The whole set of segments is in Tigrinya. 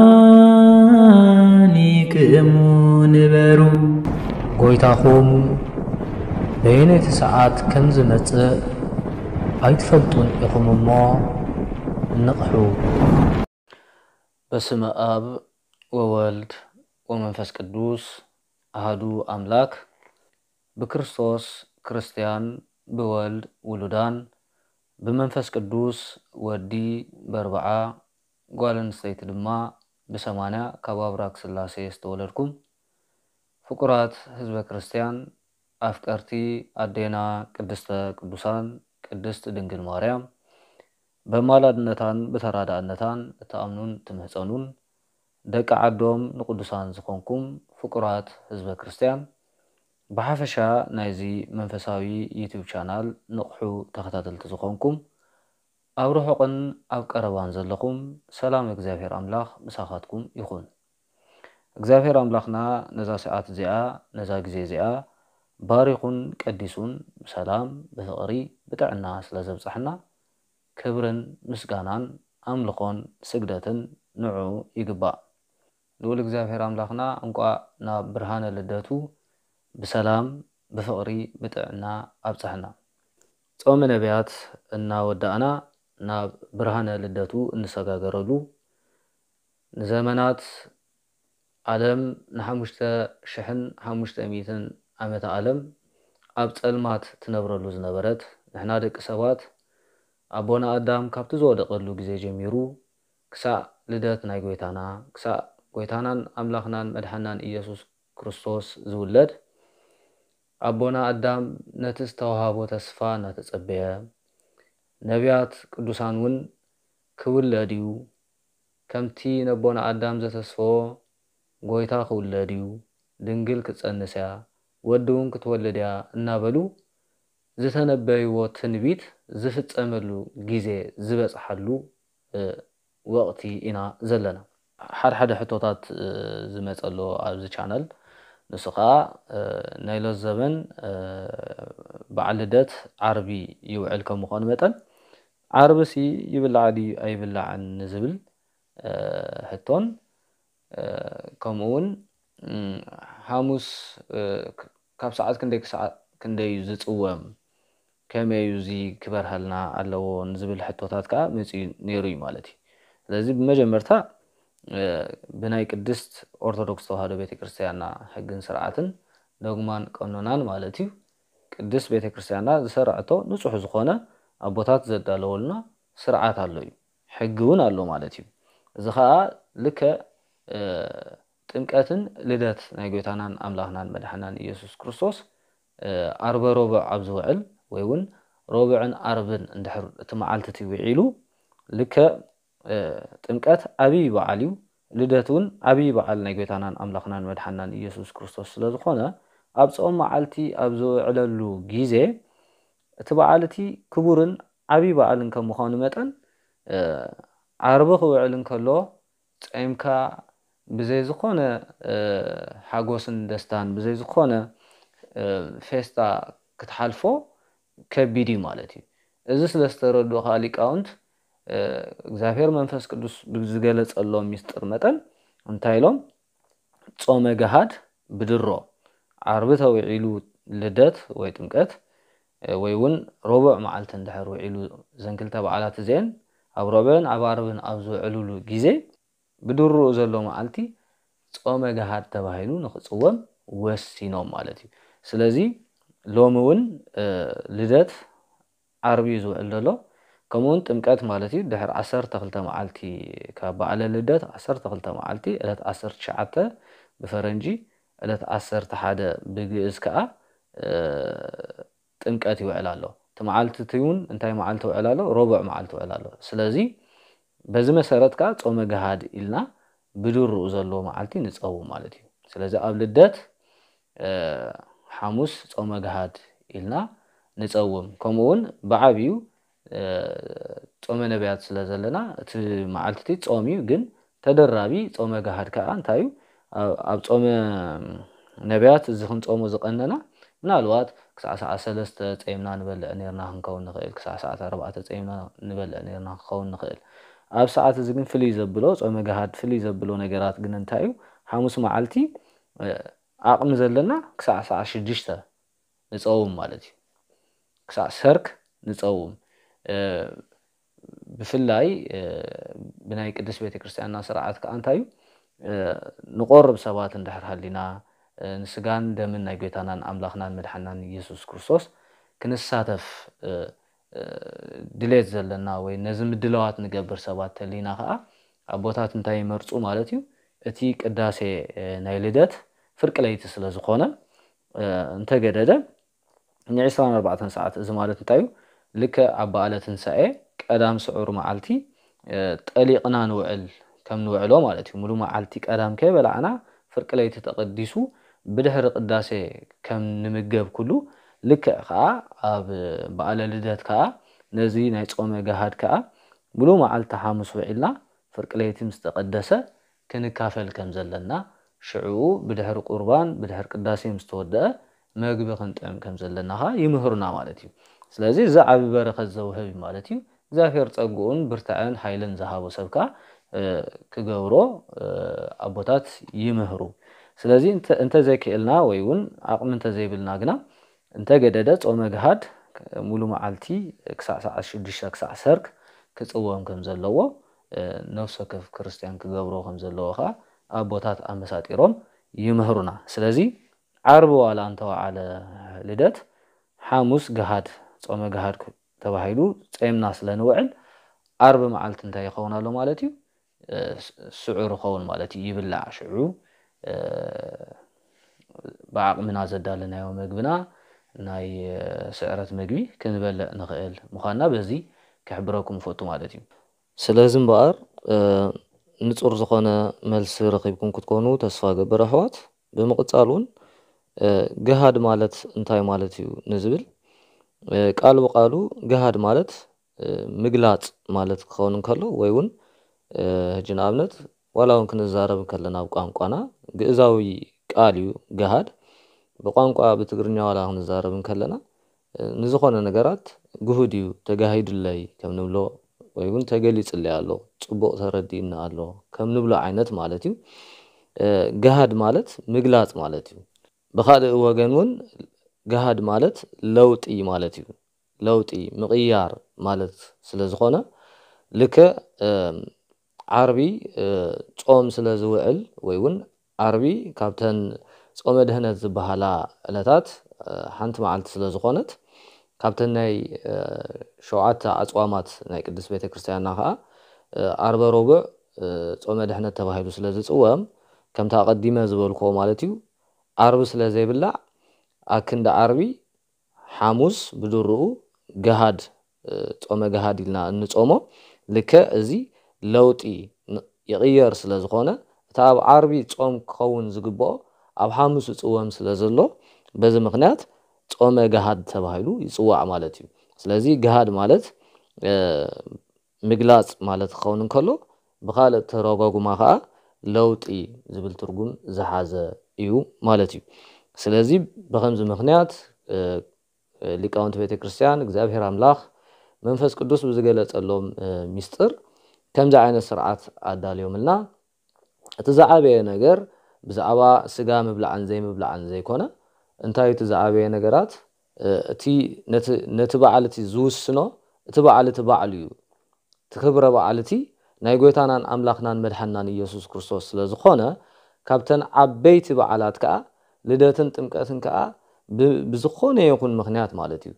ድልዋኒ ክእሙ ንበሩ። ጎይታኹም በየነይቲ ሰዓት ከም ዝመጽእ ኣይትፈልጡን ኢኹም እሞ ንቕሑ። በስመ ኣብ ወወልድ ወመንፈስ ቅዱስ ኣሃዱ ኣምላክ። ብክርስቶስ ክርስትያን፣ ብወልድ ውሉዳን፣ ብመንፈስ ቅዱስ ወዲ በርብዓ፣ ጓል ኣንስተይቲ ድማ ብሰማንያ ካብ ኣብራክ ስላሴ ዝተወለድኩም ፍቁራት ህዝበ ክርስትያን፣ ኣፍቀርቲ ኣዴና ቅድስተ ቅዱሳን ቅድስት ድንግል ማርያም በማላድነታን ብተራዳእነታን እትኣምኑን ትምህጸኑን ደቂ ዓዶም ንቅዱሳን ዝኾንኩም ፍቁራት ህዝበ ክርስትያን፣ ብሓፈሻ ናይዚ መንፈሳዊ ዩቲዩብ ቻናል ንቕሑ ተኸታተልቲ ዝኾንኩም፣ ኣብ ርሑቕን ኣብ ቀረባን ዘለኹም ሰላም እግዚኣብሔር ኣምላኽ ምሳኻትኩም ይኹን። እግዚኣብሔር ኣምላኽና ነዛ ሰዓት እዚኣ፣ ነዛ ግዜ እዚኣ ባሪኹን ቀዲሱን ብሰላም፣ ብፍቕሪ፣ ብጥዕና ስለ ዘብጻሕና፣ ክብርን ምስጋናን ኣምልኾን ስግደትን ንዑ ይግባእ። ልዑል እግዚኣብሔር ኣምላኽና እንቋዕ ናብ ብርሃነ ልደቱ ብሰላም፣ ብፍቕሪ፣ ብጥዕና ኣብጽሐና። ጾመ ነቢያት እናወዳእና ናብ ብርሃነ ልደቱ እንሰጋገረሉ፣ ንዘመናት ዓለም ንሓሙሽተ ሽሕን ሓሙሽተ ሚእትን ዓመተ ዓለም ኣብ ጸልማት ትነብረሉ ዝነበረት፣ ንሕና ደቂ ሰባት ኣቦና ኣዳም ካብቲ ዝወደቐሉ ግዜ ጀሚሩ ክሳዕ ልደት ናይ ጎይታና፣ ክሳዕ ጎይታናን ኣምላኽናን መድሓናን ኢየሱስ ክርስቶስ ዝውለድ፣ ኣቦና ኣዳም ነቲ ዝተዋሃቦ ተስፋ እናተጸበየ፣ ነቢያት ቅዱሳን እውን ክውለድ እዩ፣ ከምቲ ነቦና ኣዳም ዘተስፈዎ ጎይታ ክውለድ እዩ፣ ድንግል ክትጸንስ እያ፣ ወዲ እውን ክትወልድ እያ እናበሉ ዝተነበይዎ ትንቢት ዝፍጸመሉ ግዜ ዝበጽሓሉ፣ እ፣ ወቕቲ ኢና ዘለና። ሓድሓደ ሕቶታት፣ እ፣ ዝመጸ ኣሎ ኣብዚ ቻነል። ንሱ ኸኣ፣ እ፣ ናይ ሎት ዘበን፣ እ፣ በዓል ልደት ዓርቢ ይውዕል ከም ምዃኑ መጠን፣ ዓርብሲ ይብላዕ ድዩ ኣይብላዕን ንዝብል፣ እ፣ ሕቶን፣ እ፣ ከምኡ እውን፣ እም፣ ሓሙስ፣ እ፣ ክ-፣ ካብ ሰዓት ክንደይ ክሳዕ ክንደይ እዩ ዝጽወም? ከመይ እዩ እዚ ክበርሃልና ኣለዎ ንዝብል ሕቶታት ከኣ መጺኡ ነይሩ እዩ ማለት እዩ። ስለዚ ብመጀመርታ፣ እ፣ ብናይ ቅድስት ኦርቶዶክስ ተዋህዶ ቤተክርስትያንና ሕግን ስርዓትን ዶግማን ቀኖናን ማለት እዩ፣ ቅድስት ቤተክርስትያንና ዝሰርዐቶ ንጹሕ ዝኾነ ኣቦታት ዘዳለወልና ስርዓት ኣሎ እዩ። ሕጊ እውን ኣሎ ማለት እዩ። እዚ ኸኣ ልክዕ፣ እ፣ ጥምቀትን ልደት ናይ ጎይታናን ኣምላኽናን መድሓናን ኢየሱስ ክርስቶስ፣ እ፣ ዓርበ ሮብዕ ኣብ ዝውዕል ወይ እውን ሮብዕን ዓርብን እንድሕር እቲ መዓልቲ እቲ ውዒሉ፣ ልክዕ፣ እ፣ ጥምቀት ዓብዪ በዓል እዩ። ልደት እውን ዓብዪ በዓል ናይ ጎይታናን ኣምላኽናን መድሓናን ኢየሱስ ክርስቶስ ስለ ዝኾነ፣ ኣብ ጾም መዓልቲ ኣብ ዝውዕለሉ ግዜ፣ እቲ በዓል እቲ ክቡርን ዓብዪ በዓልን ከም ምዃኑ መጠን፣ እ፣ ዓርቢ ክውዕል እንከሎ፣ ጸይምካ ብዘይ ዝኾነ፣ እ፣ ሓጎስን ደስታን፣ ብዘይ ዝኾነ፣ እ፣ ፌስታ ክትሓልፎ ከቢድ እዩ ማለት እዩ። እዚ ስለ ዝተረድኡ ከኣ ሊቃውንት፣ እ፣ እግዚኣብሔር መንፈስ ቅዱስ ብዝገለጸሎም ሚስጥር መጠን እንታይ ኢሎም? ጾመ ገሃድ ብድሮ፣ ዓርቢ ተውዒሉ ልደት ወይ ጥምቀት፣ እ፣ ወይ እውን ረቡዕ መዓልቲ እንድሕር ውዒሉ፣ እዘን ክልተ በዓላት እዚአን ኣብ ረቡዕን ኣብ ዓርብን ኣብ ዝውዕሉሉ ግዜ፣ ብድሮኡ ዘሎ መዓልቲ ጾመ ገሃድ ተባሂሉ ንኽጽወም ወሲኖም ማለት እዩ። ስለዚ ሎሚ እውን፣ እ፣ ልደት ዓርቢ እዩ ዝውዕል ዘሎ። ከምኡውን ጥምቀት ማለት እዩ፣ ድሕሪ ዓሰርተ ክልተ መዓልቲ ካብ በዓለ ልደት፣ ዓሰርተ ክልተ መዓልቲ፣ ዕለት ዓሰርተ ትሽዓተ ብፈረንጂ፣ ዕለት ዓሰርተ ሓደ ብግእዝ ከኣ፣ እ፣ ጥምቀት ይውዕል ኣሎ። እቲ መዓልቲ እቲ እውን እንታይ መዓልቲ ይውዕል ኣሎ? ረቡዕ መዓልቲ ይውዕል ኣሎ። ስለዚ በዚ መሰረት ከኣ ጾመ ገሃድ ኢልና ብድሩኡ ዘሎ መዓልቲ ንጸውም ማለት እዩ። ስለዚ ኣብ ልደት፣ እ፣ ሓሙስ ጾመ ገሃድ ኢልና ንጸውም። ከምኡ እውን ብዓብዩ፣ እ፣ ጾመ ነቢያት ስለ ዘለና እቲ መዓልቲ እቲ ጾም እዩ፣ ግን ተደራቢ ጾመ ገሃድ ከኣ እንታይ እዩ? ኣብ፣ ኣብ ጾመ ነቢያት እዚ ክንጾሞ ዝቐነና፣ ምናልባት ክሳዕ ሰዓት ሰለስተ ጸይምና ንበልዕ ኔርና ክንከውን ንኽእል፣ ክሳዕ ሰዓት ኣርባዕተ ጸይምና ንበልዕ ኔርና ክንከውን ንኽእል። ኣብ ሰዓት እዚ ግን ፍልይ ዘብሎ፣ ጾመ ገሃድ ፍልይ ዘብሎ ነገራት ግን እንታይ እዩ? ሓሙስ መዓልቲ ዓቕሚ ዘለና ክሳዕ ሰዓት ሽዱሽተ ንጸውም ማለት እዩ። ክሳዕ ሰርክ ንጸውም። ብፍላይ ብናይ ቅድስት ቤተክርስትያንና ስርዓት ከኣ እንታይ እዩ? ንቆርብ ሰባት እንድሕር ሃሊና፣ ንስጋን ደምን ናይ ጎይታናን ኣምላኽናን መድሓናን ኢየሱስ ክርስቶስ ክንሳተፍ ድሌት ዘለና ወይ ነዚ ምድላዋት ንገብር ሰባት ተሊና ከኣ ኣቦታት እንታይ ይመርጹ ማለት እዩ? እቲ ቅዳሴ ናይ ልደት ፍርቂ ለይቲ ስለ ዝኾነ እንተገደደ ንዒስራን ኣርባዕተን ሰዓት፣ እዚ ማለት እንታይ እዩ? ልክዕ ኣብ በዓለ ትንሳኤ ቀዳም ስዑር መዓልቲ ጠሊቕና ንውዕል ከም ንውዕሎ ማለት እዩ። ሙሉ መዓልቲ ቀዳም ከይበላዕና ፍርቂ ለይቲ ተቐዲሱ ብድሕሪ ቅዳሴ ከም ንምገብ ኩሉ፣ ልክዕ ከኣ ኣብ በዓለ ልደት ከኣ ነዚ ናይ ጾመ ገሃድ ከኣ ሙሉ መዓልቲ ሓሙስ ውዒልና ፍርቂ ለይቲ ምስ ተቐደሰ ክንካፈል ከም ዘለና፣ ሽዕኡ ብድሕሪ ቁርባን ብድሕሪ ቅዳሴ ምስ ተወደአ መግቢ ክንጥዕም ከም ዘለና ኸኣ ይምህሩና ማለት እዩ። ስለዚ እዚ ዓቢ በረኸት ዘውህብ እዩ ማለት እዩ። እግዚኣብሔር ጸግኡን ብርታዐን ሓይልን ዝሃቦ ሰብ ከኣ ክገብሮ ኣቦታት ይምህሩ። ስለዚ እንተዘይክእልና ወይ እውን ዓቕሚ እንተዘይብልና ግና እንተገደደ ጾመ ግሃድ ሙሉ መዓልቲ ክሳዕ ሰዓት ሽዱሽተ ክሳዕ ሰርክ ክጽወም ከም ዘለዎ፣ ነፍሲ ወከፍ ክርስትያን ክገብሮ ከም ዘለዎ ከኣ ኣቦታት ኣመሳጢሮም ይምህሩና። ስለዚ ዓርቢ ዋላ እንተወዓለ ልደት፣ ሓሙስ ግሃድ፣ ጾመ ግሃድ ተባሂሉ ጸይምና ስለ ንውዕል፣ ዓርቢ መዓልቲ እንታይ ይኸውን ኣሎ ማለት እዩ? ስዑር ይኸውን ማለት እዩ። ይብላዕ ሽዑ ብዓቕምና ዘዳለናዮ መግብና ናይ ስዕረት መግቢ ክንበልዕ ንኽእል ምዃንና በዚ ክሕብረኩም እፈቱ ማለት እዩ። ስለዚ እምበኣር ንጹር ዝኾነ መልሲ ረኺብኩም ክትኮኑ ተስፋ እገብር ኣሕዋት። ብምቕጻል እውን ግሃድ ማለት እንታይ ማለት እዩ ንዝብል ቃል ብቃሉ ግሃድ ማለት ምግላጽ ማለት ክኸውን እንከሎ ወይ እውን ሕጂ ንኣብነት ዋላ እውን ክንዛረብ እንከለና ኣብ ቋንቋና ግእዛዊ ቃል እዩ ግሃድ። ብቋንቋ ብትግርኛ ዋላ ክንዛረብ እንከለና ንዝኾነ ነገራት ግሁድ እዩ፣ ተጋሂዱለይ ከም ንብሎ ወይ እውን ተገሊጽለይ ኣሎ፣ ጽቡቕ ተረዲእኒ ኣሎ ከም ንብሎ ዓይነት ማለት እዩ። ግሃድ ማለት ምግላጽ ማለት እዩ። ብኻልእ ወገን እውን ግሃድ ማለት ለውጢ ማለት እዩ። ለውጢ ምቕያር ማለት ስለ ዝኾነ ልክዕ ዓርቢ ጾም ስለ ዝውዕል ወይ እውን ዓርቢ ካብተን ጾመ ድህነት ዝበሃላ ዕለታት ሓንቲ መዓልቲ ስለ ዝኾነት ካብተን ናይ ሸውዓተ ኣጽዋማት ናይ ቅድስት ቤተ ክርስቲያንና ከኣ ዓርበ ረቡዕ ጾመ ድሕነት ተባሂሉ ስለ ዝጽወም ከምቲ ኣቐዲመ ዝበልክዎ ማለት እዩ ዓርቢ ስለ ዘይብላዕ ኣክንዲ ዓርቢ ሓሙስ ብድርኡ ገሃድ ጾመ ገሃድ ኢልና እንጾሞ ልክዕ እዚ ለውጢ ይቕየር ስለ ዝኾነ እቲ ኣብ ዓርቢ ጾም ክኸውን ዝግብኦ ኣብ ሓሙስ ይጽወም ስለ ዘሎ በዚ ምኽንያት ጾመ ገሃድ ተባሂሉ ይጽዋዕ ማለት እዩ። ስለዚ ገሃድ ማለት ምግላጽ ማለት ክኸውን እንከሎ ብኻልእ ተረጓጉማ ከኣ ለውጢ ዝብል ትርጉም ዝሓዘ እዩ ማለት እዩ። ስለዚ ብኸምዚ ምኽንያት ሊቃውንቲ ቤተ ክርስቲያን እግዚኣብሔር ኣምላኽ መንፈስ ቅዱስ ብዝገለጸሎም ሚስጥር ከምዚ ዓይነት ስርዓት ኣዳልዮምልና። እቲ ዝዓበየ ነገር ብዛዕባ ስጋ ምብላዕን ዘይምብላዕን ዘይኮነ እንታይ እቲ ዝዓበየ ነገራት እቲ ነቲ በዓል እቲ ዝውስኖ እቲ በዓል እቲ ባዕሉ እዩ። እቲ ክብረ በዓል እቲ ናይ ጎይታናን ኣምላኽናን መድሓናን ኢየሱስ ክርስቶስ ስለ ዝኾነ ካብተን ዓበይቲ በዓላት ከኣ ልደትን ጥምቀትን ከኣ ብዝኾነ ይኹን ምኽንያት ማለት እዩ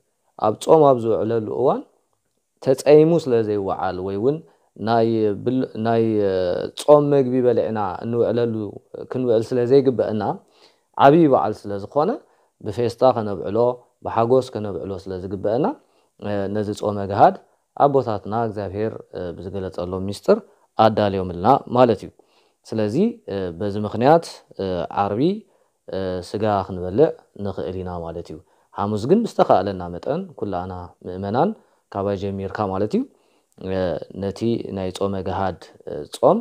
ኣብ ጾም ኣብ ዝውዕለሉ እዋን ተጸይሙ ስለ ዘይወዓል ወይ እውን ናይ ጾም መግቢ በሊዕና እንውዕለሉ ክንውዕል ስለ ዘይግበአና ዓብዪ በዓል ስለ ዝኾነ ብፌስታ ከነብዕሎ ብሓጎስ ከነብዕሎ ስለ ዝግበአና ነዚ ጾመ ግሃድ ኣቦታትና እግዚኣብሔር ብዝገለጸሎም ሚስጥር ኣዳልዮምልና ማለት እዩ። ስለዚ በዚ ምኽንያት ዓርቢ ስጋ ክንበልዕ ንኽእል ኢና ማለት እዩ። ሓሙስ ግን ብዝተኻእለና መጠን ኩላና ምእመናን ካባይ ጀሚርካ ማለት እዩ ነቲ ናይ ጾመ ገሃድ ጾም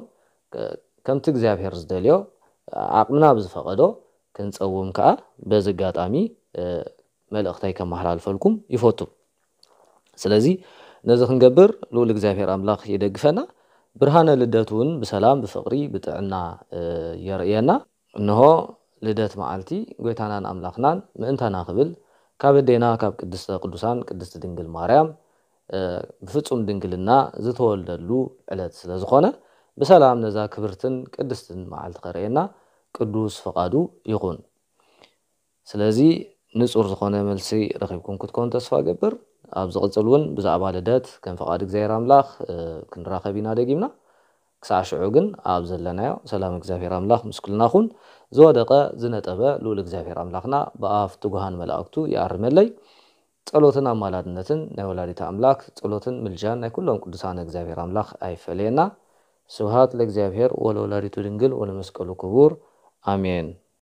ከምቲ እግዚኣብሔር ዝደልዮ ዓቕምና ብዝፈቐዶ ክንጸውም ከኣ በዚ ኣጋጣሚ መልእኽተይ ከመሓላልፈልኩም ይፈቱ። ስለዚ ነዚ ክንገብር ልኡል እግዚኣብሔር ኣምላኽ ይደግፈና። ብርሃነ ልደት እውን ብሰላም፣ ብፍቕሪ፣ ብጥዕና የርእየና። እንሆ ልደት መዓልቲ ጎይታናን ኣምላኽናን ምእንታና ክብል ካብ ኣዴና ካብ ቅድስተ ቅዱሳን ቅድስቲ ድንግል ማርያም ብፍጹም ድንግልና ዝተወልደሉ ዕለት ስለ ዝኾነ፣ ብሰላም ነዛ ክብርትን ቅድስትን መዓልቲ ከርእየና ቅዱስ ፈቓዱ ይኹን። ስለዚ ንጹር ዝኾነ መልሲ ረኺብኩም ክትኮን ተስፋ ገብር። ኣብ ዝቕጽል እውን ብዛዕባ ልደት ከም ፈቓድ እግዚኣብሔር ኣምላኽ ክንራኸብ ኢና ደጊምና። ክሳዕ ሽዑ ግን ኣብ ዘለናዮ ሰላም እግዚኣብሔር ኣምላኽ ምስ ኩልና ኹን። ዝወደቐ ዝነጠበ ልኡል እግዚኣብሔር ኣምላኽና ብኣፍ ትጉሃን መላእክቱ ይኣርመለይ። ጸሎትን ኣማላድነትን ናይ ወላዲተ ኣምላክ ጸሎትን ምልጃን ናይ ኩሎም ቅዱሳን እግዚኣብሔር ኣምላክ ኣይፈለየና። ስብሃት ለእግዚኣብሔር ወለወላዲቱ ድንግል ወለመስቀሉ ክቡር። ኣሜን።